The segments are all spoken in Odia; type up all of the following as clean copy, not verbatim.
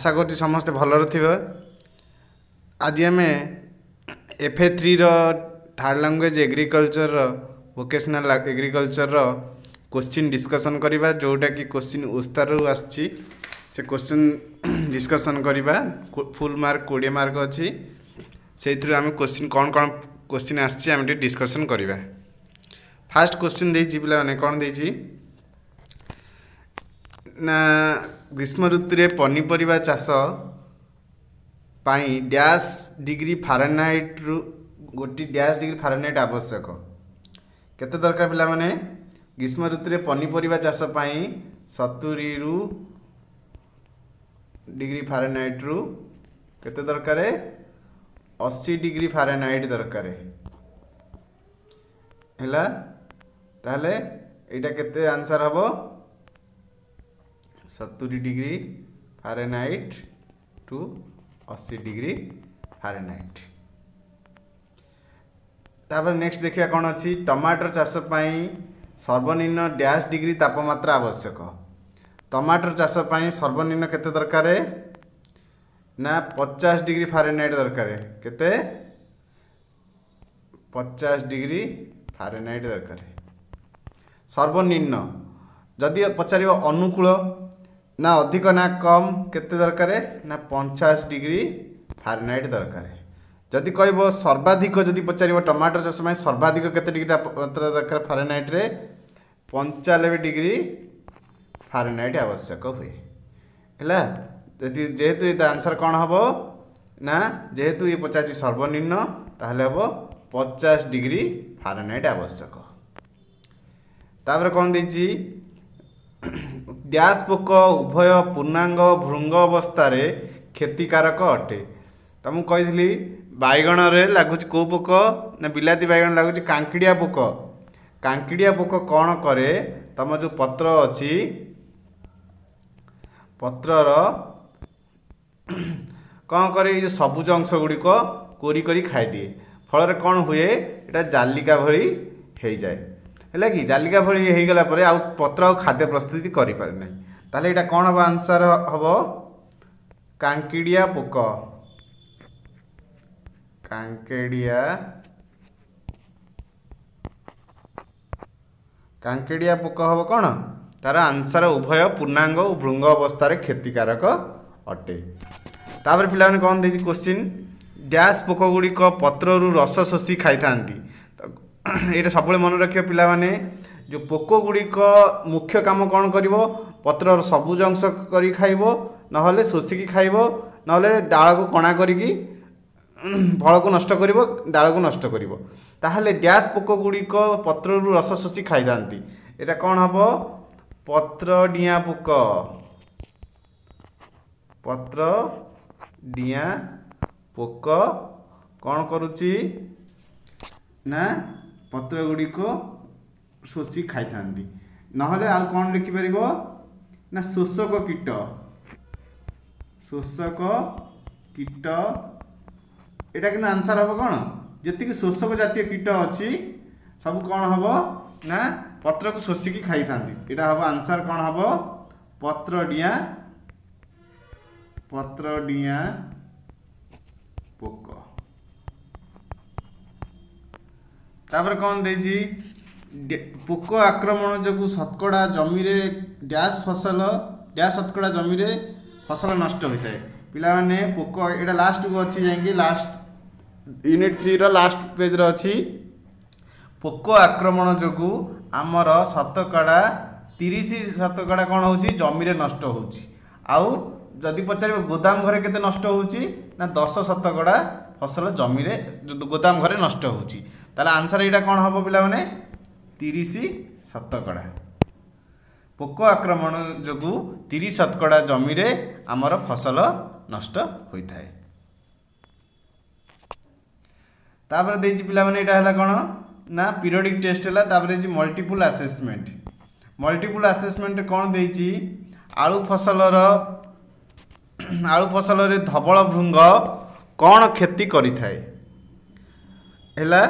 ଆଶା କରୁଛି ସମସ୍ତେ ଭଲରେ ଥିବେ। ଆଜି ଆମେ ଏଫ୍ ଏ ଥ୍ରୀର ଥାର୍ଡ଼ ଲାଙ୍ଗୁଏଜ୍ ଏଗ୍ରିକଲଚର୍ର ଭୋକେସନାଲ୍ ଏଗ୍ରିକଲଚର୍ର କୋଶ୍ଚିନ୍ ଡିସ୍କସନ୍ କରିବା, ଯେଉଁଟାକି କୋଶ୍ଚିନ୍ ଓସ୍ତାରୁ ଆସିଛି। ସେ କୋଶ୍ଚିନ୍ ଡିସ୍କସନ୍ କରିବା। ଫୁଲ୍ ମାର୍କ 20 ମାର୍କ ଅଛି। ସେଇଥିରୁ ଆମେ କୋଶ୍ଚିନ୍ କ'ଣ କ'ଣ କୋଶ୍ଚିନ୍ ଆସିଛି ଆମେ ଟିକେ ଡିସ୍କସନ୍ କରିବା। ଫାର୍ଷ୍ଟ କୋଶ୍ଚିନ୍ ଦେଇଛି ପିଲାମାନେ, କ'ଣ ଦେଇଛି ନା, ଗ୍ରୀଷ୍ମ ଋତୁରେ ପନିପରିବା ଚାଷ ପାଇଁ ଡ୍ୟାସ୍ ଡିଗ୍ରୀ ଫାରେନହାଇଟ୍ରୁ ଗୋଟି ଡ୍ୟାସ୍ ଡିଗ୍ରୀ ଫାରେନହାଇଟ୍ ଆବଶ୍ୟକ। କେତେ ଦରକାର ପିଲାମାନେ? ଗ୍ରୀଷ୍ମ ଋତୁରେ ପନିପରିବା ଚାଷ ପାଇଁ 70ରୁ ଡିଗ୍ରୀ ଫାରେନହାଇଟ୍ରୁ କେତେ ଦରକାର? 80 ଡିଗ୍ରୀ ଫାରେନହାଇଟ୍ ଦରକାର ହେଲା। ତାହେଲେ ଏଇଟା କେତେ ଆନ୍ସର୍ ହେବ? 70 degree Fahrenheit to 80 degree Fahrenheit. ତାପରେ ନେକ୍ସଟ ଦେଖିବା କ'ଣ ଅଛି। ଟମାଟର ଚାଷ ପାଇଁ ସର୍ବନିମ୍ନ ଡ୍ୟାସ୍ ଡିଗ୍ରୀ ତାପମାତ୍ରା ଆବଶ୍ୟକ। ଟମାଟର ଚାଷ ପାଇଁ ସର୍ବନିମ୍ନ କେତେ ଦରକାର ନା, 50 ଡିଗ୍ରୀ ଫାରେନହାଇଟ୍ ଦରକାର। କେତେ? 50 ଡିଗ୍ରୀ ଫାରେନହାଇଟ୍ ଦରକାର ସର୍ବନିମ୍ନ। ଯଦି ପଚାରିବ ଅନୁକୂଳ ନା ଅଧିକ ନା କମ୍ କେତେ ଦରକାର ନା, 50 ଡିଗ୍ରୀ ଫାରେନହାଇଟ୍ ଦରକାର। ଯଦି କହିବ ସର୍ବାଧିକ, ଯଦି ପଚାରିବ ଟମାଟର ଚାଷ ପାଇଁ ସର୍ବାଧିକ କେତେ ଡିଗ୍ରୀ ତାପମାତ୍ରା ଦରକାର ଫାରେନହାଇଟ୍ରେ, 95 ଡିଗ୍ରୀ ଫାରେନହାଇଟ୍ ଆବଶ୍ୟକ ହୁଏ। ହେଲା, ଯଦି ଯେହେତୁ ଏଇଟା ଆନ୍ସର୍ କ'ଣ ହେବ ନା, ଯେହେତୁ ଇଏ ପଚାରିଛି ସର୍ବନିମ୍ନ, ତାହେଲେ ହେବ 50 ଡିଗ୍ରୀ ଫାରେନହାଇଟ୍ ଆବଶ୍ୟକ। ତାପରେ କ'ଣ ଦେଇଛି? ଡ୍ୟାସ୍ ପୋକ ଉଭୟ ପୂର୍ଣ୍ଣାଙ୍ଗ ଭୃଙ୍ଗ ଅବସ୍ଥାରେ କ୍ଷତିକାରକ ଅଟେ। ତ ମୁଁ କହିଥିଲି ବାଇଗଣରେ ଲାଗୁଛି କେଉଁ ପୋକ ନା, ବିଲାତି ବାଇଗଣ ଲାଗୁଛି କାଙ୍କିଡ଼ିଆ ପୋକ। କାଙ୍କିଡ଼ିଆ ପୋକ କ'ଣ କରେ? ତମ ଯେଉଁ ପତ୍ର ଅଛି, ପତ୍ରର କ'ଣ କରେ? ଏଇ ଯେଉଁ ସବୁଜ ଅଂଶ ଗୁଡ଼ିକ କୋରି କରି ଖାଇଦିଏ। ଫଳରେ କ'ଣ ହୁଏ? ଏଇଟା ଜାଲିକା ଭଳି ହେଇଯାଏ। ହେଲା କି? ଜାଲିକା ଭଳି ହେଇଗଲା ପରେ ଆଉ ପତ୍ର ଆଉ ଖାଦ୍ୟ ପ୍ରସ୍ତୁତି କରିପାରେ ନାହିଁ। ତାହେଲେ ଏଇଟା କ'ଣ ହେବ? ଆନ୍ସର୍ ହେବ କାଙ୍କିଡ଼ିଆ ପୋକ। କାଙ୍କେଡ଼ିଆ କାଙ୍କେଡ଼ିଆ ପୋକ ହେବ କ'ଣ ତାର ଆନ୍ସର୍, ଉଭୟ ପୂର୍ଣ୍ଣାଙ୍ଗ ଓ ଭୃଙ୍ଗ ଅବସ୍ଥାରେ କ୍ଷତିକାରକ ଅଟେ। ତାପରେ ପିଲାମାନେ କ'ଣ ଦେଇଛି କୋଶ୍ଚିନ୍? ଡ୍ୟାସ୍ ପୋକ ଗୁଡ଼ିକ ପତ୍ରରୁ ରସ ଶୋଷି ଖାଇଥାନ୍ତି। ଏଇଟା ସବୁବେଳେ ମନେ ରଖିବ ପିଲାମାନେ, ଯେଉଁ ପୋକ ଗୁଡ଼ିକ ମୁଖ୍ୟ କାମ କ'ଣ କରିବ? ପତ୍ରର ସବୁଜ ଅଂଶ କରି ଖାଇବ, ନହେଲେ ଶୋଷିକି ଖାଇବ, ନହେଲେ ଡାଳକୁ କଣା କରିକି ଫଳକୁ ନଷ୍ଟ କରିବ, ଡାଳକୁ ନଷ୍ଟ କରିବ। ତାହେଲେ ଡ୍ୟାସ୍ ପୋକ ଗୁଡ଼ିକ ପତ୍ରରୁ ରସ ଶୋଷି ଖାଇଥାନ୍ତି, ଏଇଟା କ'ଣ ହେବ? ପତ୍ର ଡିଆଁ ପୋକ। ପତ୍ର ଡିଆଁ ପୋକ କ'ଣ କରୁଛି ନା, ପତ୍ର ଗୁଡ଼ିକ ଶୋଷି ଖାଇଥାନ୍ତି। ନହେଲେ ଆଉ କ'ଣ ଲେଖିପାରିବ ନା, ଶୋଷକ କୀଟ। ଶୋଷକ କୀଟ ଏଇଟା କିନ୍ତୁ ଆନ୍ସର୍ ହେବ କ'ଣ? ଯେତିକି ଶୋଷକ ଜାତୀୟ କୀଟ ଅଛି ସବୁ କ'ଣ ହେବ ନା, ପତ୍ରକୁ ଶୋଷିକି ଖାଇଥାନ୍ତି। ଏଇଟା ହେବ ଆନ୍ସର୍ କ'ଣ ହେବ? ପତ୍ର ଡିଆଁ, ପତ୍ର ଡିଆଁ ପୋକ। ତାପରେ କ'ଣ ଦେଇଛି? ପୋକ ଆକ୍ରମଣ ଯୋଗୁଁ ଶତକଡ଼ା ଜମିରେ ଡ୍ୟାସ୍ ଫସଲ, ଡ୍ୟାସ୍ ଶତକଡ଼ା ଜମିରେ ଫସଲ ନଷ୍ଟ ହୋଇଥାଏ। ପିଲାମାନେ, ପୋକ ଏଇଟା ଲାଷ୍ଟକୁ ଅଛି, ଯାଇକି ଲାଷ୍ଟ ୟୁନିଟ୍ 3ର ଲାଷ୍ଟ ପେଜ୍ରେ ଅଛି। ପୋକ ଆକ୍ରମଣ ଯୋଗୁଁ ଆମର ଶତକଡ଼ା 30 ଶତକଡ଼ା କ'ଣ ହେଉଛି? ଜମିରେ ନଷ୍ଟ ହେଉଛି। ଆଉ ଯଦି ପଚାରିବ ଗୋଦାମ ଘରେ କେତେ ନଷ୍ଟ ହେଉଛି ନା, 10 ଶତକଡ଼ା ଫସଲ ଜମିରେ ଗୋଦାମ ଘରେ ନଷ୍ଟ ହେଉଛି। ତାହେଲେ ଆନ୍ସର୍ ଏଇଟା କ'ଣ ହେବ ପିଲାମାନେ? 30 ଶତକଡ଼ା। ପୋକ ଆକ୍ରମଣ ଯୋଗୁଁ 30 ଶତକଡ଼ା ଜମିରେ ଆମର ଫସଲ ନଷ୍ଟ ହୋଇଥାଏ। ତାପରେ ଦେଇଛି ପିଲାମାନେ, ଏଇଟା ହେଲା କ'ଣ ନା ପିରିୟଡ଼ିକ୍ ଟେଷ୍ଟ ହେଲା। ତାପରେ ଦେଇଛି ମଲ୍ଟିପୁଲ୍ ଆସେସମେଣ୍ଟ। ମଲ୍ଟିପୁଲ୍ ଆସେସମେଣ୍ଟ କ'ଣ ଦେଇଛି? ଆଳୁ ଫସଲର, ଆଳୁ ଫସଲରେ ଧବଳ ଭୃଙ୍ଗ କ'ଣ କ୍ଷତି କରିଥାଏ? ହେଲା,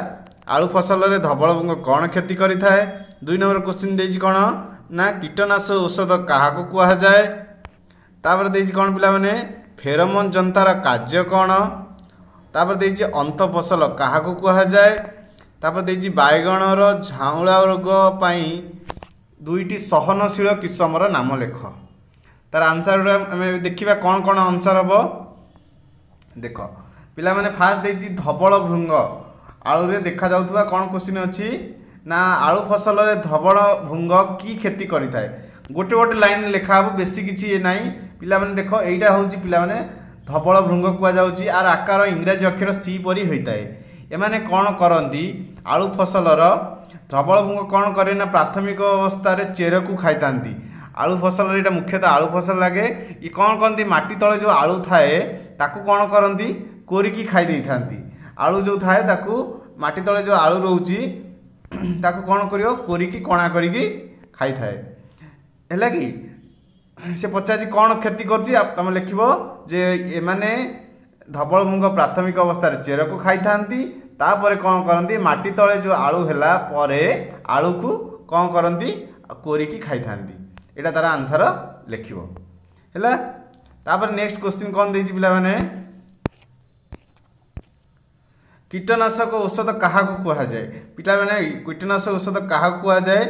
ଆଳୁ ଫସଲରେ ଧବଳ ଭୃଙ୍ଗ କ'ଣ କ୍ଷତି କରିଥାଏ? 2 ନମ୍ବର କୋଶ୍ଚିନ୍ ଦେଇଛି କ'ଣ ନା, କୀଟନାଶ ଔଷଧ କାହାକୁ କୁହାଯାଏ? ତାପରେ ଦେଇଛି କ'ଣ ପିଲାମାନେ? ଫେରୋମୋନ୍ ଯନ୍ତାର କାର୍ଯ୍ୟ କ'ଣ। ତାପରେ ଦେଇଛି ଅନ୍ତଃଫସଲ କାହାକୁ କୁହାଯାଏ। ତାପରେ ଦେଇଛି ବାଇଗଣର ଝାଉଁଳା ରୋଗ ପାଇଁ ଦୁଇଟି ସହନଶୀଳ କିସମର ନାମ ଲେଖ। ତାର ଆନ୍ସର୍ ଗୁଡ଼ା ଆମେ ଦେଖିବା କ'ଣ କ'ଣ ଆନ୍ସର୍ ହେବ। ଦେଖ ପିଲାମାନେ, ଫାଷ୍ଟ ଦେଇଛି ଧବଳ ଭୃଙ୍ଗ ଆଳୁରେ ଦେଖାଯାଉଥିବା କ'ଣ କୋଶ୍ଚିନ୍ ଅଛି ନା ଆଳୁ ଫସଲରେ ଧବଳ ଭୃଙ୍ଗ କି କ୍ଷତି କରିଥାଏ। ଗୋଟେ ଗୋଟେ ଲାଇନ୍ ଲେଖା ହେବ, ବେଶୀ କିଛି ଇଏ ନାହିଁ। ପିଲାମାନେ ଦେଖ, ଏଇଟା ହେଉଛି ପିଲାମାନେ ଧବଳ ଭୃଙ୍ଗ କୁହାଯାଉଛି। ଆର ଆକାର ଇଂରାଜୀ ଅକ୍ଷର ସି ପରି ହୋଇଥାଏ। ଏମାନେ କ'ଣ କରନ୍ତି, ଆଳୁ ଫସଲର ଧବଳ ଭୃଙ୍ଗ କ'ଣ କରେ ନା ପ୍ରାଥମିକ ଅବସ୍ଥାରେ ଚେରକୁ ଖାଇଥାନ୍ତି। ଆଳୁ ଫସଲରେ ଏଇଟା ମୁଖ୍ୟତଃ ଆଳୁ ଫସଲ ଲାଗେ। ଇଏ କ'ଣ କରନ୍ତି, ମାଟି ତଳେ ଯେଉଁ ଆଳୁ ଥାଏ ତାକୁ କ'ଣ କରନ୍ତି, କୋରିକି ଖାଇ ଦେଇଥାନ୍ତି। ଆଳୁ ଯେଉଁ ଥାଏ ତାକୁ ମାଟି ତଳେ ଯେଉଁ ଆଳୁ ରହୁଛି ତାକୁ କ'ଣ କରିବ, କୋରିକି କଣା କରିକି ଖାଇଥାଏ। ହେଲା କି ସେ ପଚାରିଛି କ'ଣ କ୍ଷତି କରୁଛି, ତୁମେ ଲେଖିବ ଯେ ଏମାନେ ଧବଳ ଭୃଙ୍ଗ ପ୍ରାଥମିକ ଅବସ୍ଥାରେ ଚେରକୁ ଖାଇଥାନ୍ତି। ତାପରେ କ'ଣ କରନ୍ତି, ମାଟି ତଳେ ଯେଉଁ ଆଳୁ ହେଲା ପରେ ଆଳୁକୁ କ'ଣ କରନ୍ତି, କୋରିକି ଖାଇଥାନ୍ତି। ଏଇଟା ତାର ଆନ୍ସର ଲେଖିବ। ହେଲା, ତାପରେ ନେକ୍ସଟ କୋଶ୍ଚିନ୍ କ'ଣ ଦେଇଛି ପିଲାମାନେ, କୀଟନାଶକ ଔଷଧ କାହାକୁ କୁହାଯାଏ। ପିଲାମାନେ କୀଟନାଶକ ଔଷଧ କାହାକୁ କୁହାଯାଏ,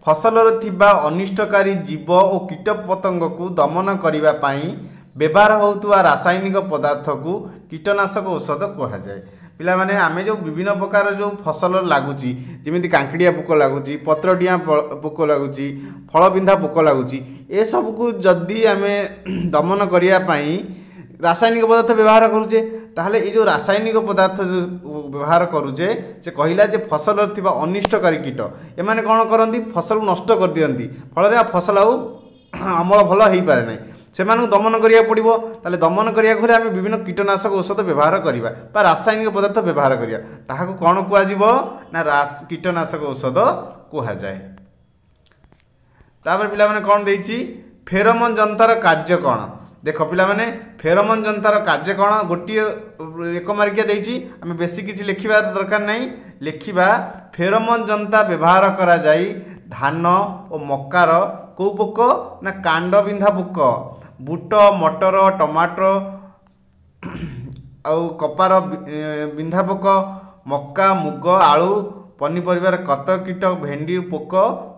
ଫସଲରେ ଥିବା ଅନିଷ୍ଟକାରୀ ଜୀବ ଓ କୀଟ ପତଙ୍ଗକୁ ଦମନ କରିବା ପାଇଁ ବ୍ୟବହାର ହେଉଥିବା ରାସାୟନିକ ପଦାର୍ଥକୁ କୀଟନାଶକ ଔଷଧ କୁହାଯାଏ। ପିଲାମାନେ ଆମେ ଯେଉଁ ବିଭିନ୍ନ ପ୍ରକାର ଯେଉଁ ଫସଲ ଲାଗୁଛି, ଯେମିତି କାଙ୍କିଡ଼ିଆ ପୋକ ଲାଗୁଛି, ପତ୍ରଡିଆଁ ପୋକ ଲାଗୁଛି, ଫଳବିନ୍ଧା ପୋକ ଲାଗୁଛି, ଏସବୁକୁ ଯଦି ଆମେ ଦମନ କରିବା ପାଇଁ ରାସାୟନିକ ପଦାର୍ଥ ବ୍ୟବହାର କରୁଛେ, ତାହେଲେ ଏଇ ଯେଉଁ ରାସାୟନିକ ପଦାର୍ଥ ଯେଉଁ ବ୍ୟବହାର କରୁଛେ, ସେ କହିଲା ଯେ ଫସଲରେ ଥିବା ଅନିଷ୍ଟକାରୀ କୀଟ ଏମାନେ କ'ଣ କରନ୍ତି, ଫସଲକୁ ନଷ୍ଟ କରିଦିଅନ୍ତି, ଫଳରେ ଆଉ ଫସଲ ଆଉ ଅମଳ ଭଲ ହୋଇପାରେ ନାହିଁ। ସେମାନଙ୍କୁ ଦମନ କରିବାକୁ ପଡ଼ିବ। ତାହେଲେ ଦମନ କରିବାକୁ ହେଲେ ଆମେ ବିଭିନ୍ନ କୀଟନାଶକ ଔଷଧ ବ୍ୟବହାର କରିବା ବା ରାସାୟନିକ ପଦାର୍ଥ ବ୍ୟବହାର କରିବା। ତାହାକୁ କ'ଣ କୁହାଯିବ ନା କୀଟନାଶକ ଔଷଧ କୁହାଯାଏ। ତାପରେ ପିଲାମାନେ କ'ଣ ଦେଇଛି, ଫେରୋମୋନ୍ ଯନ୍ତାର କାର୍ଯ୍ୟ କ'ଣ। ଦେଖ ପିଲାମାନେ, ଫେରୋମୋନ୍ ଯନ୍ତାର କାର୍ଯ୍ୟ କ'ଣ, ଗୋଟିଏ ଏକ ମାର୍କିଆ ଦେଇଛି, ଆମେ ବେଶୀ କିଛି ଲେଖିବା ଦରକାର ନାହିଁ। ଲେଖିବା ଫେରୋମୋନ୍ ଯନ୍ତା ବ୍ୟବହାର କରାଯାଇ ଧାନ ଓ ମକାର କେଉଁ ପୋକ ନା କାଣ୍ଡବିନ୍ଧା ପୋକ, ବୁଟ, ମଟର, ଟମାଟୋ ଆଉ କପାର ବିନ୍ଧା ପୋକ, ମକା, ମୁଗ, ଆଳୁ, ପନିପରିବାର କତ କୀଟ, ଭେଣ୍ଡି ପୋକ,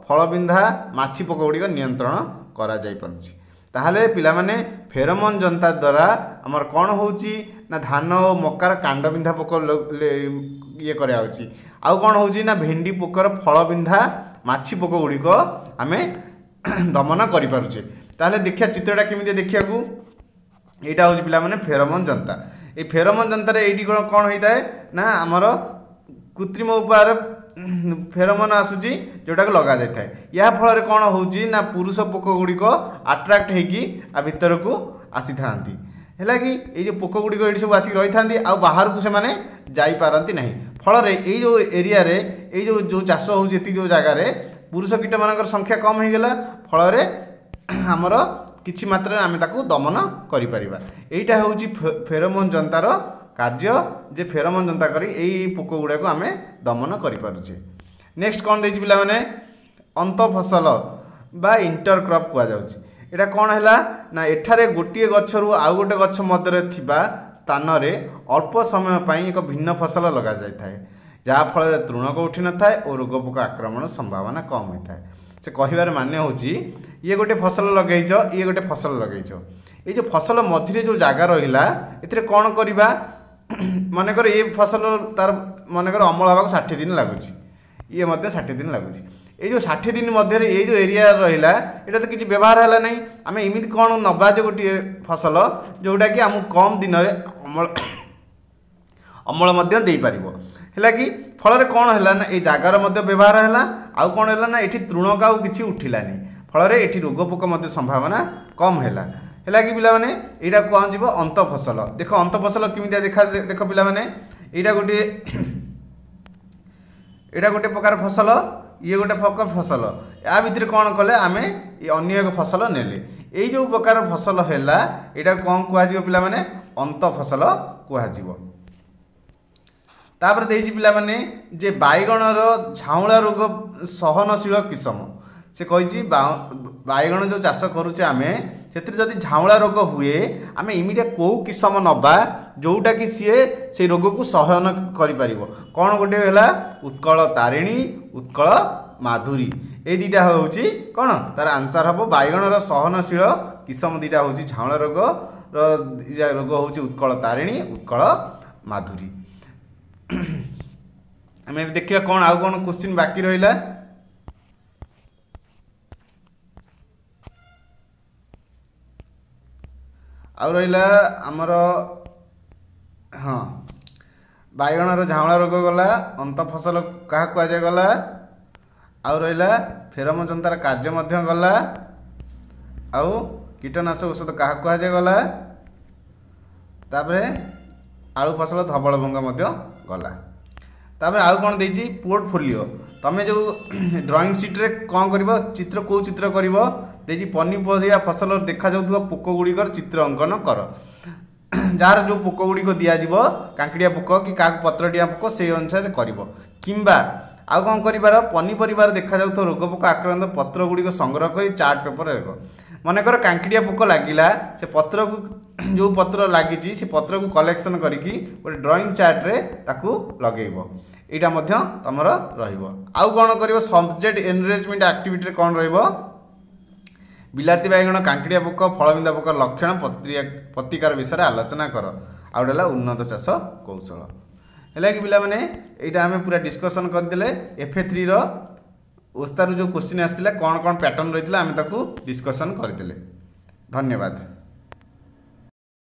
ଫଳବିନ୍ଧା, ମାଛି ପୋକ ଗୁଡ଼ିକ ନିୟନ୍ତ୍ରଣ କରାଯାଇପାରୁଛି। ତାହେଲେ ପିଲାମାନେ ଫେରୋମୋନ୍ ଯନ୍ତା ଦ୍ୱାରା ଆମର କ'ଣ ହେଉଛି ନା ଧାନ ଓ ମକାର କାଣ୍ଡବିନ୍ଧା ପୋକ ଇଏ କରାଯାଉଛି। ଆଉ କ'ଣ ହେଉଛି ନା ଭେଣ୍ଡି ପୋକର ଫଳବିନ୍ଧା, ମାଛି ପୋକ ଗୁଡ଼ିକ ଆମେ ଦମନ କରିପାରୁଛେ। ତାହେଲେ ଦେଖିବା ଚିତ୍ରଟା କେମିତି ଦେଖିବାକୁ। ଏଇଟା ହେଉଛି ପିଲାମାନେ ଫେରୋମୋନ୍ ଯନ୍ତା। ଏଇ ଫେରୋମୋନ୍ ଯନ୍ତାରେ ଏଇଠି କ'ଣ ହେଇଥାଏ ନା ଆମର କୃତ୍ରିମ ଉପାୟରେ ଫେରୋମୋନ୍ ଆସୁଛି ଯେଉଁଟାକୁ ଲଗାଯାଇଥାଏ। ଏହା ଫଳରେ କ'ଣ ହେଉଛି ନା ପୁରୁଷ ପୋକ ଗୁଡ଼ିକ ଆଟ୍ରାକ୍ଟ ହେଇକି ଆ ଭିତରକୁ ଆସିଥାନ୍ତି। ହେଲା କି ଏଇ ଯେଉଁ ପୋକ ଗୁଡ଼ିକ ଏଇଠି ସବୁ ଆସିକି ରହିଥାନ୍ତି, ଆଉ ବାହାରକୁ ସେମାନେ ଯାଇପାରନ୍ତି ନାହିଁ। ଫଳରେ ଏଇ ଯେଉଁ ଏରିଆରେ ଏଇ ଯେଉଁ ଯେଉଁ ଚାଷ ହେଉଛି ଏତିକି ଯେଉଁ ଜାଗାରେ ପୁରୁଷ କୀଟମାନଙ୍କର ସଂଖ୍ୟା କମ୍ ହେଇଗଲା, ଫଳରେ ଆମର କିଛି ମାତ୍ରାରେ ଆମେ ତାକୁ ଦମନ କରିପାରିବା। ଏଇଟା ହେଉଛି ଫେରୋମୋନ୍ ଯନ୍ତାର କାର୍ଯ୍ୟ, ଯେ ଫେରୋମୋନ୍ ଯନ୍ତା କରି ଏଇ ପୋକ ଗୁଡ଼ାକୁ ଆମେ ଦମନ କରିପାରୁଛେ। ନେକ୍ସଟ କ'ଣ ଦେଇଛି ପିଲାମାନେ, ଅନ୍ତଃଫସଲ ବା ଇଣ୍ଟରକ୍ରପ୍ କୁହାଯାଉଛି। ଏଇଟା କ'ଣ ହେଲା ନା ଏଠାରେ ଗୋଟିଏ ଗଛରୁ ଆଉ ଗୋଟେ ଗଛ ମଧ୍ୟରେ ଥିବା ସ୍ଥାନରେ ଅଳ୍ପ ସମୟ ପାଇଁ ଏକ ଭିନ୍ନ ଫସଲ ଲଗାଯାଇଥାଏ, ଯାହାଫଳରେ ତୃଣକ ଉଠିନଥାଏ ଓ ରୋଗ ପୋକ ଆକ୍ରମଣ ସମ୍ଭାବନା କମ୍ ହୋଇଥାଏ। ସେ କହିବାର ମାନେ ହେଉଛି ଇଏ ଗୋଟେ ଫସଲ ଲଗେଇଛ, ଇଏ ଗୋଟେ ଫସଲ ଲଗେଇଛ, ଏଇ ଯେଉଁ ଫସଲ ମଝିରେ ଯେଉଁ ଜାଗା ରହିଲା ଏଥିରେ କ'ଣ କରିବା, ମନେକର ଏ ଫସଲ ତାର ମନେକର ଅମଳ ହେବାକୁ 60 ଦିନ ଲାଗୁଛି, ଇଏ ମଧ୍ୟ 60 ଦିନ ଲାଗୁଛି। ଏଇ ଯେଉଁ 60 ଦିନ ମଧ୍ୟରେ ଏଇ ଯେଉଁ ଏରିଆ ରହିଲା ଏଇଟା ତ କିଛି ବ୍ୟବହାର ହେଲା ନାହିଁ। ଆମେ ଏମିତି କ'ଣ ନେବା ଯେ ଗୋଟିଏ ଫସଲ ଯେଉଁଟାକି ଆମକୁ କମ୍ ଦିନରେ ଅମଳ ମଧ୍ୟ ଦେଇପାରିବ। ହେଲା କି ଫଳରେ କ'ଣ ହେଲା ନା ଏଇ ଜାଗାର ମଧ୍ୟ ବ୍ୟବହାର ହେଲା, ଆଉ କ'ଣ ହେଲା ନା ଏଠି ତୃଣକ ଆଉ କିଛି ଉଠିଲାନି, ଫଳରେ ଏଠି ରୋଗ ପୋକ ମଧ୍ୟ ସମ୍ଭାବନା କମ୍ ହେଲା। ହେଲା କି ପିଲାମାନେ, ଏଇଟା କ'ଣ ଯିବ ଅନ୍ତଃଫସଲ। ଦେଖ ଅନ୍ତଃଫସଲ କେମିତିଆ ଦେଖା, ଦେଖ ପିଲାମାନେ, ଏଇଟା ଗୋଟେ ପ୍ରକାର ଫସଲ, ଇଏ ଗୋଟେ ପ୍ରକାର ଫସଲ। ୟା ଭିତରେ କ'ଣ କଲେ ଆମେ ଅନ୍ୟ ଏକ ଫସଲ ନେଲେ। ଏଇ ଯେଉଁ ପ୍ରକାର ଫସଲ ହେଲା ଏଇଟା କ'ଣ କୁହାଯିବ ପିଲାମାନେ, ଅନ୍ତଃଫସଲ କୁହାଯିବ। ତାପରେ ଦେଇଛି ପିଲାମାନେ ଯେ ବାଇଗଣର ଝାଉଁଳା ରୋଗ ସହନଶୀଳ କିସମ। ସେ କହିଛି ବାଇଗଣ ଯେଉଁ ଚାଷ କରୁଛେ ଆମେ ସେଥିରେ ଯଦି ଝାଉଁଳା ରୋଗ ହୁଏ, ଆମେ ଏମିତିଆ କେଉଁ କିସମ ନେବା ଯେଉଁଟାକି ସିଏ ସେଇ ରୋଗକୁ ସହନ କରିପାରିବ? କ'ଣ ଗୋଟେ ହେଲା ଉତ୍କଳ ତାରିଣୀ, ଉତ୍କଳ ମାଧୁରୀ, ଏଇ ଦୁଇଟା ହେଉଛି କ'ଣ ତାର ଆନ୍ସର୍ ହେବ। ବାଇଗଣର ସହନଶୀଳ କିସମ ଦୁଇଟା ହେଉଛି ଝାଉଁଳା ରୋଗର ଦୁଇଟା ରୋଗ ହେଉଛି ଉତ୍କଳ ତାରିଣୀ, ଉତ୍କଳ ମାଧୁରୀ। ଆମେ ଏବେ ଦେଖିବା କ'ଣ ଆଉ କ'ଣ କୋଶ୍ଚିନ୍ ବାକି ରହିଲା। ଆଉ ରହିଲା ଆମର, ହଁ, ବାଇଗଣର ଝାଉଁଳା ରୋଗ ଗଲା, ଅନ୍ତ ଫସଲ କାହାକୁ କୁହାଯାଏ ଗଲା, ଆଉ ରହିଲା ଫେରମ ଯନ୍ତାର କାର୍ଯ୍ୟ ମଧ୍ୟ ଗଲା, ଆଉ କୀଟନାଶକ ଔଷଧ କାହାକୁ କୁହାଯାଏ ଗଲା, ତାପରେ ଆଳୁ ଫସଲ ଧବଳ ଭଙ୍ଗ ମଧ୍ୟ ଗଲା। ତାପରେ ଆଉ କ'ଣ ଦେଇଛି? ପୋର୍ଟଫୋଲିଓ। ତମେ ଯେଉଁ ଡ୍ରଇଂ ସିଟ୍ରେ କ'ଣ କରିବ ଚିତ୍ର, କେଉଁ ଚିତ୍ର କରିବ ଦେଇଛି। ପନିପରିବା ଫସଲ ଦେଖାଯାଉଥିବା ପୋକ ଗୁଡ଼ିକର ଚିତ୍ର ଅଙ୍କନ କର। ଯାହାର ଯେଉଁ ପୋକ ଗୁଡ଼ିକ ଦିଆଯିବ, କାଙ୍କିଡ଼ିଆ ପୋକ କି କାହାକୁ ପତ୍ରଡିଆ ପୋକ, ସେଇ ଅନୁସାରେ କରିବ। କିମ୍ବା ଆଉ କ'ଣ କରିବାର? ପନିପରିବାରେ ଦେଖାଯାଉଥିବା ରୋଗ ପୋକ ଆକ୍ରାନ୍ତ ପତ୍ର ଗୁଡ଼ିକ ସଂଗ୍ରହ କରି ଚାର୍ଟ ପେପରରେ ଲେଖ। ମନେକର କାଙ୍କିଡ଼ିଆ ପୋକ ଲାଗିଲା, ସେ ପତ୍ରକୁ, ଯେଉଁ ପତ୍ର ଲାଗିଛି ସେ ପତ୍ରକୁ କଲେକ୍ସନ୍ କରିକି ଗୋଟେ ଡ୍ରଇଂ ଚାର୍ଟରେ ତାକୁ ଲଗେଇବ। ଏଇଟା ମଧ୍ୟ ତୁମର ରହିବ। ଆଉ କ'ଣ କରିବ? ସବଜେକ୍ଟ ଏନରେଜମେଣ୍ଟ ଆକ୍ଟିଭିଟିରେ କ'ଣ ରହିବ? ବିଲାତି ବାଇଗଣ କାଙ୍କିଡ଼ିଆ ପୋକ, ଫଳବିନ୍ଧା ପୋକ ଲକ୍ଷଣ, ପ୍ରତିକାର ବିଷୟରେ ଆଲୋଚନା କର। ଆଉ ଗୋଟେ ହେଲା ଉନ୍ନତ ଚାଷ କୌଶଳ। ହେଲା କି ପିଲାମାନେ? ଏଇଟା ଆମେ ପୁରା ଡିସ୍କସନ୍ କରିଦେଲେ। ଏଫ୍ ଏ ଥ୍ରୀର ଓସ୍ତାରୁ ଯେଉଁ କୋଶ୍ଚିନ୍ ଆସିଥିଲା, କ'ଣ କ'ଣ ପ୍ୟାଟର୍ନ ରହିଥିଲା, ଆମେ ତାକୁ ଡିସ୍କସନ୍ କରିଦେଲେ। ଧନ୍ୟବାଦ।